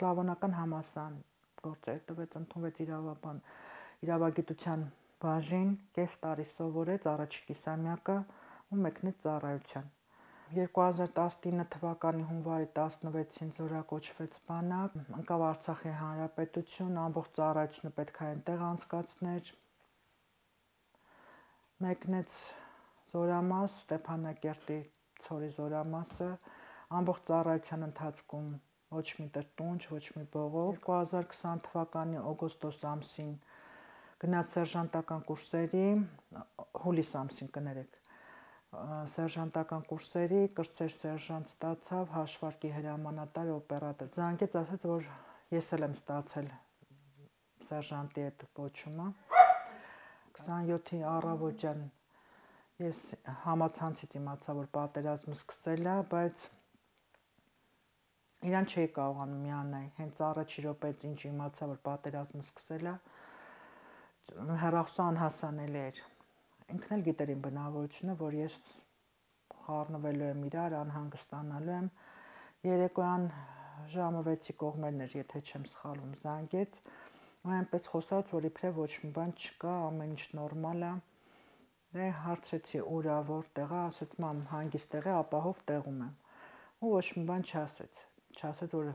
Սլավոնական համալսարան գործեր տվեց, ընդունվեց իրավագիտության բաժին, կես տարի սովորեց առաջի կիսամյակը ու մեկնեց ծառայության։ 2019 թվականի հունվարի 16-ին զորակոչվեց բանակ, ընկավ Արցախի Հանրապետություն, ամբողջ ծառայությունը պետք է այնտեղ անցկացներ, մեկնեց զորամաս, Ստեփանակերտի ցորի զորամասը, ամբողջ ծառայության ընթացքում ոչ մի տրտունջ, ոչ մի բողոք։ 2020 թվականի օգոստոս ամսին գնաց սերժանտական կուրսերի, հուլիս ամսին կներեք, սերժանտական կուրսերի, կրտսեր սերժանտ ստացավ, հաշվարկի հրամանատար, օպերատոր։ Զանգեց, ասաց, որ ես էլ եմ ստացել սերժանտի այդ կոչումը։ 27-ի առավոտյան ես համացանցից իմացա, որ պատերազմը սկսել է, բայց իրան չէի կարողանում միանալ։ Հենց առաջի րոպեից ինչ իմացա, որ պատերազմը սկսել է, հեռախոսը անհասանելի էր։ Ինքն էլ գիտեր իմ բնավորությունը, որ ես խառնվելու եմ իրար, անհանգստանալու եմ։ Երեկոյան ժամը 6-ի կողմերն էր, եթե չեմ սխալվում, զանգեց, ու այնպես խոսաց, որ իբրև ոչ մի բան չկա, ամեն ինչ նորմալ է։ Դե հարցրեցի ուր է, որտեղ է, ասաց մամ հանգիստ տեղ է, ապահով տեղում եմ։ Ու ոչ մի բան չասեց։ Չասեց, որ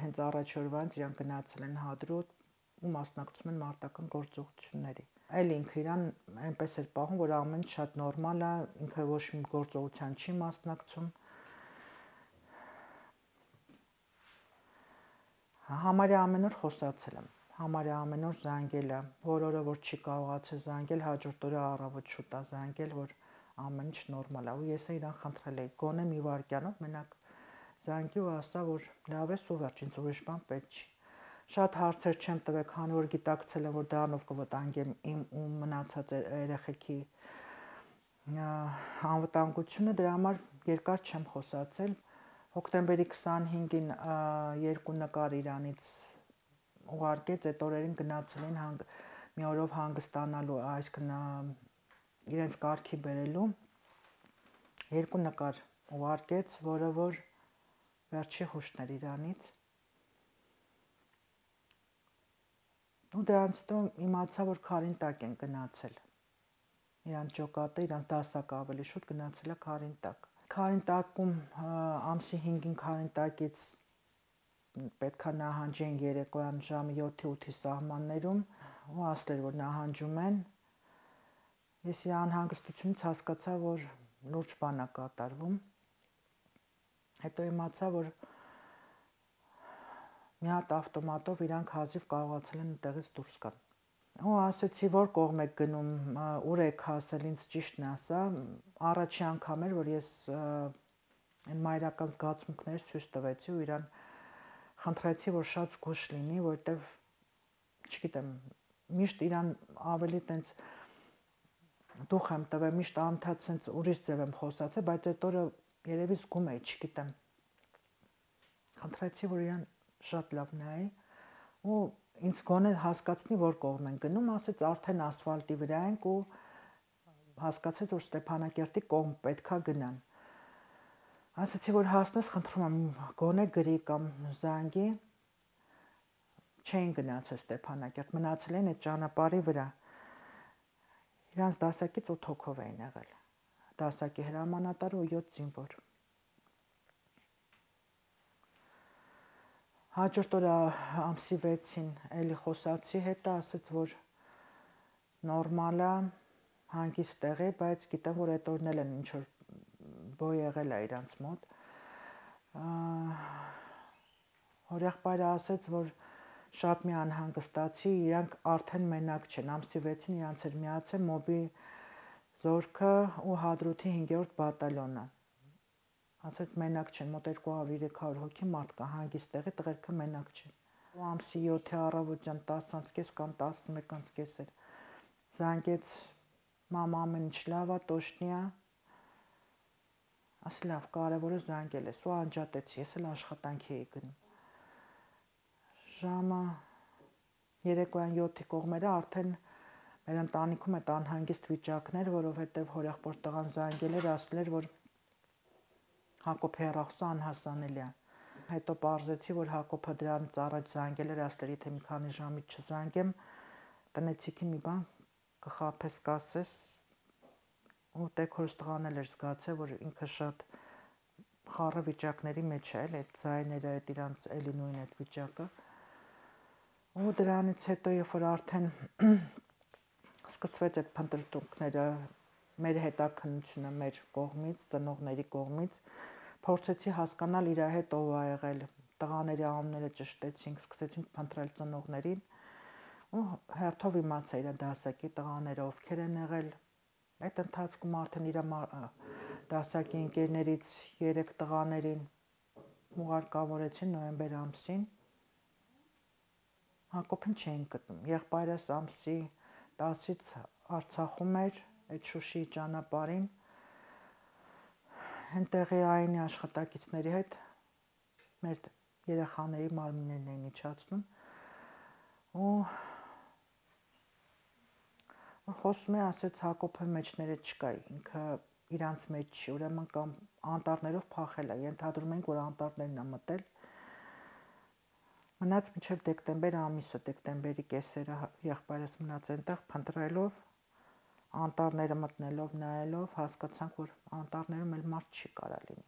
հենց առաջ օրվանից իրան գնացել են Հադրութ ու մասնակցում են մարտական գործողությունների։ Այլ ինքը իրան այնպես էր պահում, որ ամեն ինչ շատ նորմալ է, ինքը ոչ մի գործողության չի մասնակցում։ Համարյա ամեն օր խոսացել եմ, համարյա ամեն օր զանգել է, որ օրը որ չի կարողացել զանգել, հաջորդ օրը առավոտ շուտ է զանգել, որ ամեն ինչ նորմալ է։ Ու ես իրան խնդրել էի, գոնե մի վայրկյանով մենակ զանգի ու ասա, որ լավ է, ու վերջ, ինձ ուրիշ բան պետք չի։ Շատ հարցեր չեմ տվել, քանի որ գիտակցել եմ, որ դրանով կվտանգեմ իմ ու մնացած երեխեքի անվտանգությունը, դրա համար երկար չեմ խոսացել։ Հոկտեմբերի 25-ին երկու նկար իրանից ուղարկեց, այդ օրերին գնացել էին մի օրով հանգստանալու, այսինքն իրենց կարգի բերելու, երկու նկար ուղարկեց, որը որ վերջի հուշն էր իրանից։ Ու դրանից հետո իմացա, որ Քարինտակ են գնացել։ Իրանց ջոկատը, իրանց դասակը ավելի շուտ գնացել է Քարինտակ։ Քարինտակում ամսի 5-ին Քարինտակից պետքա նահանջեն երեկոյան ժամը 7-8-ի սահմաններում ու ասել, որ նահանջում են։ Ես իր անհանգստությունից հասկացա, որ լուրջ բան է կատարվում։ Հետո իմացա, որ մի հատ ավտոմատով իրանք հազիվ կարողացել են տեղից դուրս գալ։ Ու ասեցի, որ կողմ եք գնում, ուր եք հասել, ինձ ճիշտն ասա, առաջի անգամ էր, որ ես այն մայրական զգացմունքներից ցույց տվեցի ու իրան խնդրեցի, որ շատ զգույշ լինի, որովհետև չգիտեմ, միշտ իրան ավելի տենց դուխ եմ տվել, միշտ անդադ սենց ուրիշ ձև եմ խոսացել, բայց այդ օրը երևի զգում էի, չգիտեմ։ Խնդրեցի, որ իրան շատ լավ նայի ու ինձ գոնե հասկացնի, որ կողմ են գնում, ասեց արդեն ասֆալտի վրա ենք ու հասկացեց, որ Ստեփանակերտի կողմ պետքա գնան։ Ասացի, որ հասնես, խնդրում եմ, գոնե գրի կամ զանգի։ Չէին գնացել Ստեփանակերտ, մնացել են այդ ճանապարհի վրա։ Իրանց դասակից 8 հոգով էին եղել։ Դասակի հրամանատարը ու 7 զինվոր։ Հաջորդ օրը ամսի 6-ին էլի խոսացի հետը, ասաց, որ նորմալ է, հանգիստ տեղ է, բայց գիտեմ, որ այդ օրն էլ են ինչ որ բոյ եղել է իրանց մոտ։ Հորեղբայրը ասաց, որ շատ մի անհանգստացի, իրանք արդեն մենակ չեն, ամսի 6-ին իրանց էր միացել մոբի զորքը ու Հադրութի 5-րդ բատալյոնը։ Ասաց մենակ չեն, մոտ 200-300 հոգի մարդ կա, հանգիստ տեղի, տղերքը մենակ չեն։ Ու ամսի 7-ի առավոտյան 10:30 կամ 11:30 էր։ Զանգեց, մամ ամեն ինչ լավ է, տոշնի է։ Ասի լավ, կարևորը զանգել ես ու անջատեցի, ես էլ աշխատանքի էի գնում։ Ժամը երեկոյան 7-ի կողմերը արդեն մեր ընտանիքում այդ անհանգիստ վիճակներ, որովհետև հորեղբոր տղան զանգել էր, ասել էր, որ Հակոբ հեռախոսը անհասանելի է։ Հետո պարզեցի, որ Հակոբը դրանից առաջ զանգել էր, ասել էր, եթե մի քանի ժամից չզանգեմ, տնեցիքի մի բան կխաբես, կասես, ու տեքորս տղան էր զգացել, որ ինքը շատ խառը վիճակների մեջ է, այդ ձայները, այդ իրանց էլի նույն այդ վիճակը։ Ու դրանից հետո, երբ որ արդեն սկսվեց այդ փնտրտուքները, մեր հետաքննությունը մեր կողմից, ծնողների կողմից, փորձեցի հասկանալ իր հետ ով ա եղել, տղաների անունները ճշտեցինք, սկսեցինք փնտրել ծնողներին, ու հերթով իմացա իր դասակի տղաները ովքեր են եղել։ Այդ ընթացքում արդեն իր դասակի ընկերներից 3 տղաներին ուղարկավորեցին նոյեմբեր ամսին։ Հակոբին չէին գտնում։ Եղբայրս ամսի 10-ից Արցախում էր, այդ Շուշիի ճանապարհին, այնտեղի այնի աշխատակիցների հետ մեր երեխաների մարմիններն էին իջացնում, ու խոսում է, ասեց Հակոբը մեջները չկա, ինքը իրանց մեջ չի, ուրեմն կամ անտառներով փախել է, ենթադրում ենք, որ անտառներն է մտել։ Մնաց մինչև դեկտեմբեր ամիսը, դեկտեմբերի կեսերը եղբայրս մնաց այնտեղ փնտրելով, անտառները մտնելով, նայելով, հասկացանք, որ անտառներում էլ մարդ չի կարա լինի։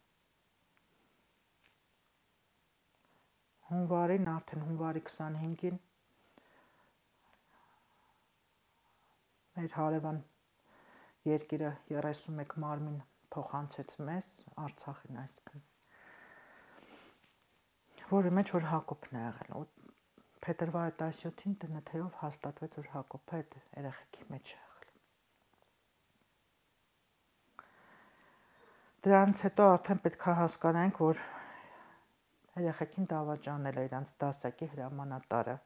Հունվարին, արդեն հունվարի 25-ին մեր հարևան երկիրը 31 մարմին փոխանցեց մեզ, Արցախին այսքան, որի մեջ որ Հակոբն է եղել, ու փետրվարի 17-ին ՏՆԹ-ով հաստատվեց, որ Հակոբը այդ երեխեքի մեջ է եղել։ Դրանից հետո արդեն պետք է հասկանանք, որ երեխեքին դավաճանել է իրանց դասակի հրամանատարը,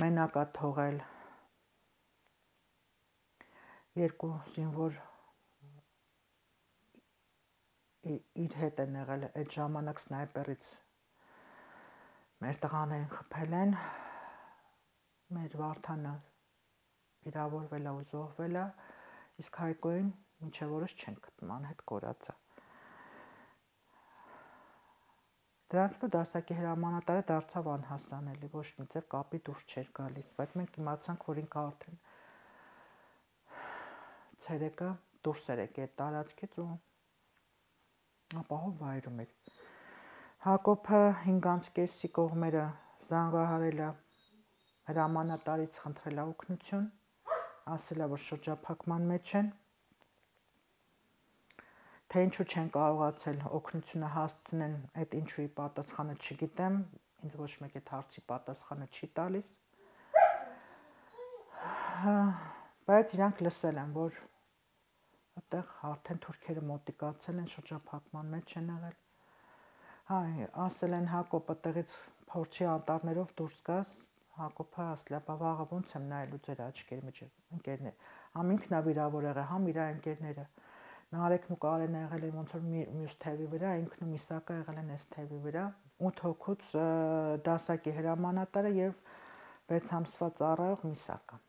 մենակ է թողել, 2 զինվոր իր հետ են եղել, այդ ժամանակ սնայպերից մեր տղաներին խփել են, մեր Վարդանը վիրավորվել է ու զոհվել է, իսկ Հայկոին մինչև օրս չեն գտնում, անհետ կորած է։ Դրանից հետո դասակի հրամանատարը դարձավ անհասանելի, ոչ մի ձև կապի դուրս չէր գալիս, բայց մենք իմացանք, որ ինքը արդեն ցերեկը դուրս էր եկել այդ տարածքից ու ապահով վայրում էր։ Հակոբը 5:30 կողմերը զանգահարել է հրամանատարից, խնդրել է օգնություն, ասել է, որ շրջափակման մեջ են, թե ինչու չեն կարողացել օգնությունը հասցնեն, այդ ինչուի պատասխանը չգիտեմ, ինձ ոչ մեկ այդ հարցի պատասխանը չի տալիս, բայց իրանք լսել են, որ այդտեղ արդեն թուրքերը մոտիկացել են, շրջափակման մեջ են եղել։ Ասել են Հակոբը տեղից փորձի անտառներով դուրս գաս, Հակոբը ասել է, բա վաղը ոնց եմ նայելու ձեր աչքերի մեջ, ընկերներ, համ ինքն է վիրավոր եղել, համ իր ընկերները, Նարեկն ու Կարենը եղել են ոնց որ մյուս թևի վրա, ինքն ու Միսակը եղել են այս թևի վրա, 8 հոգուց դասակի հրամանատարը եւ 6 ամսվա ծառայող Միսակը։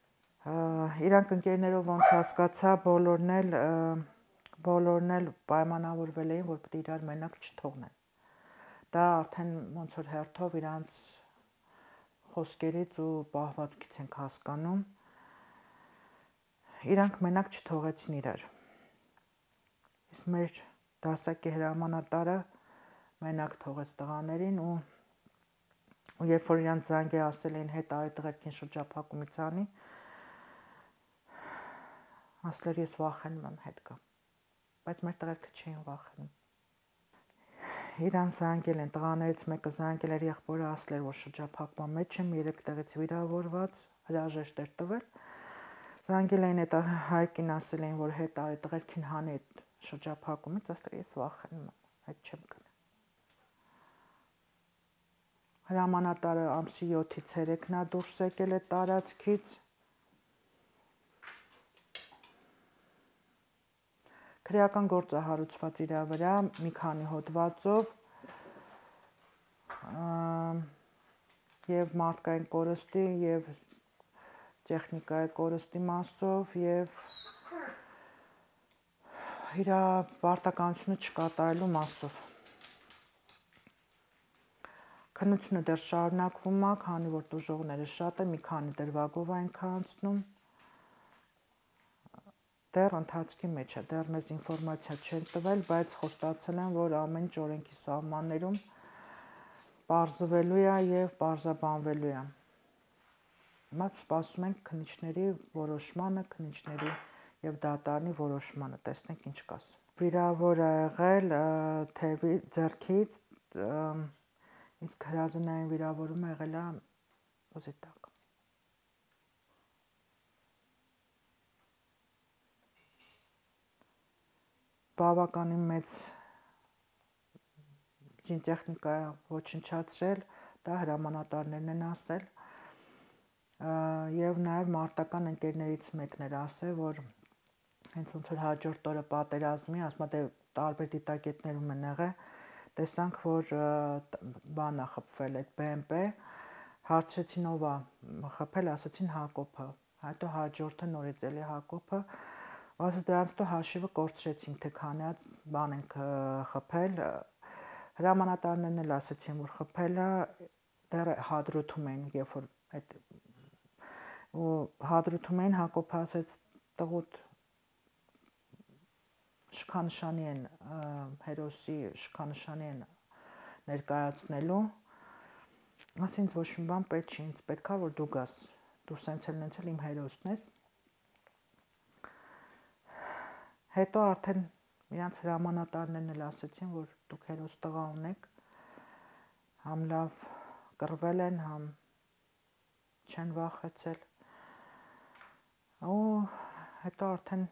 Իրանք ընկերներով ոնց հասկացա, բոլորն էլ պայմանավորվել էին, որ պետք է իրար մենակ չթողնեն։ Դա արդեն ոնց որ հերթով իրանց խոսքերից ու պահվածքից ենք հասկանում, իրանք մենակ չթողեցին իրար։ Իսկ մեր դասակի հրամանատարը մենակ թողեց տղաներին ու երբ որ իրանց զանգի ասել էին հետ արի տղերքին շրջափակումից անի, ասել էր ես վախենում եմ հետ գամ, բայց մեր տղերքը չէին վախենում։ Իրան զանգել են, տղաներից մեկը զանգել էր եղբորը, ասել էր, որ շրջափակման մեջ եմ, 3 տեղից վիրավորված, հրաժեշտ էր տվել։ Զանգել էին այդ Հայկին, ասել էին, որ հետ արի տղերքին հանի այդ շրջափակումից, ասել ես վախենում եմ, հետ չեմ գնա։ Հրամանատարը ամսի 7-ից 3-ն է դուրս եկել այդ տարածքից։ Քրեական գործ է հարուցված իր վրա մի քանի հոդվածով եւ մարդկային կորստի եւ տեխնիկայի կորստի մասով եւ իր պարտականությունը չկատարելու մասով։ Քննությունը դեռ շարունակվում է, քանի որ տուժողները շատ են, մի քանի դրվագով են անցնում։ Դեռ ընթացքի մեջ է, դեռ մեզ ինֆորմացիա չեն տվել, բայց խոստացել են, որ ամեն ինչ օրենքի սահմաններում պարզվելու է եւ պարզաբանվելու է։ Հիմա սպասում ենք քննիչների որոշմանը, քննիչների եւ դատարանի որոշմանը, տեսնենք ինչ կասեն։ Վիրավոր է եղել թևի ձեռքից, իսկ հրազենային վիրավորումը եղել է ուզի տակ։ Բավականին մեծ զինտեխնիկա ոչնչացրել, դա հրամանատարներն են ասել, եւ նաեւ մարտական ընկերներից մեկն էր ասել, որ հենց ոնց որ հաջորդ օրը պատերազմի, ասում է, տարբեր դիտակետներում են եղել, տեսանք, որ բանա խփվել այդ BMP, հարցրեցին ով է խփել, ասացին Հակոբը, հետո հաջորդը նորից էլի Հակոբը, ասես դրանից հետո հաշիվը կորցրեցինք, թե քանած բան ենք խփել, հրամանատարներն էլ ասացին, որ խփելը դեռ հադրութում էին, երբ որ այդ ու հադրութում էին, Հակոբը ասեց տղուտ շքանշանի են հերոսի շքանշանի են ներկայացնելու, ասինց ոչ մի բան պետք չի, ինձ պետքա որ դու գաս, դու սենց էլ իմ հերոսն ես։ Հետո արդեն իրանց հրամանատարներն էլ ասեցին, որ դուք հերոս տղա ունեք, համ լավ կռվել են, համ չեն վախեցել։ Ու հետո արդեն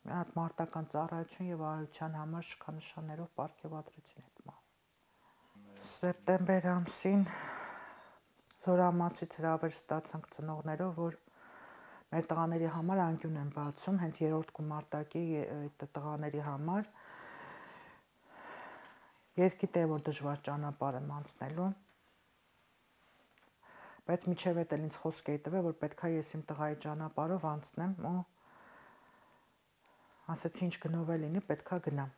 մի հատ մարտական ծառայություն եւ արարության համար շքանշաններով պարգևատրեցին այդ մահը։ Սեպտեմբեր ամսին Զորամասից հրավեր ստացանք ծնողներով, որ մեր տղաների համար անկյուն են բացում, հենց 3-րդ գումարտակի այդ տղաների համար։ Ես գիտեի, որ դժվար ճանապարհ եմ անցնելու, բայց միջև էդ էլ ինձ խոսք էի տվել, որ պետքա ես իմ տղայի ճանապարհով անցնեմ ու ասացի ինչ գնով է լինի, պետքա գնամ։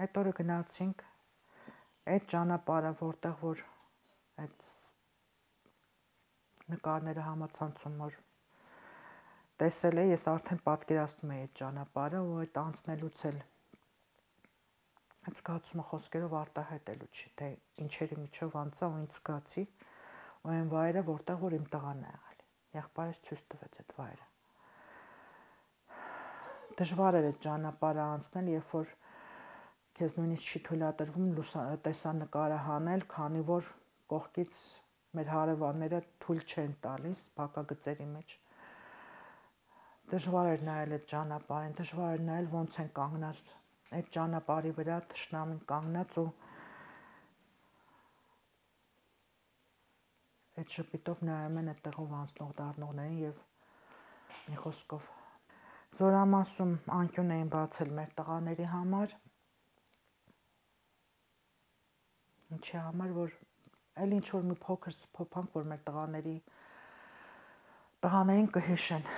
Այդ օրը գնացինք այդ ճանապարհը, որտեղ որ այդ նկարները համացանցում որ տեսել էի, ես արդեն պատկերացնում էի այդ ճանապարհը ու այդ անցնելուց էլ այդ զգացումը խոսքերով արտահայտելու չի, թե ինչերի միջով անցա ու ինչ զգացի, ու այն վայրը, որտեղ որ իմ տղան է եղել։ Եղբայրս ցույց տվեց այդ վայրը։ Դժվար էր այդ ճանապարհը անցնել, երբ որ քեզ նույնիսկ չի թույլատրվում տեսանկարը հանել, քանի որ կողքից մեր հարևանները թույլ չեն տալիս փակագծերի մեջ։ Դժվար էր նայել այդ ճանապարհին, դժվար էր նայել ոնց են կանգնած այդ ճանապարհի վրա թշնամին կանգնած ու այդ շփիտով նայում են այդտեղով անցնող դառնողներին եւ մի խոսքով Զորամասում անկյուն էին բացել մեր տղաների համար, ինչի համար, որ այլ ինչ որ մի փոքր սփոփանք, որ մեր տղաներին կհիշեն,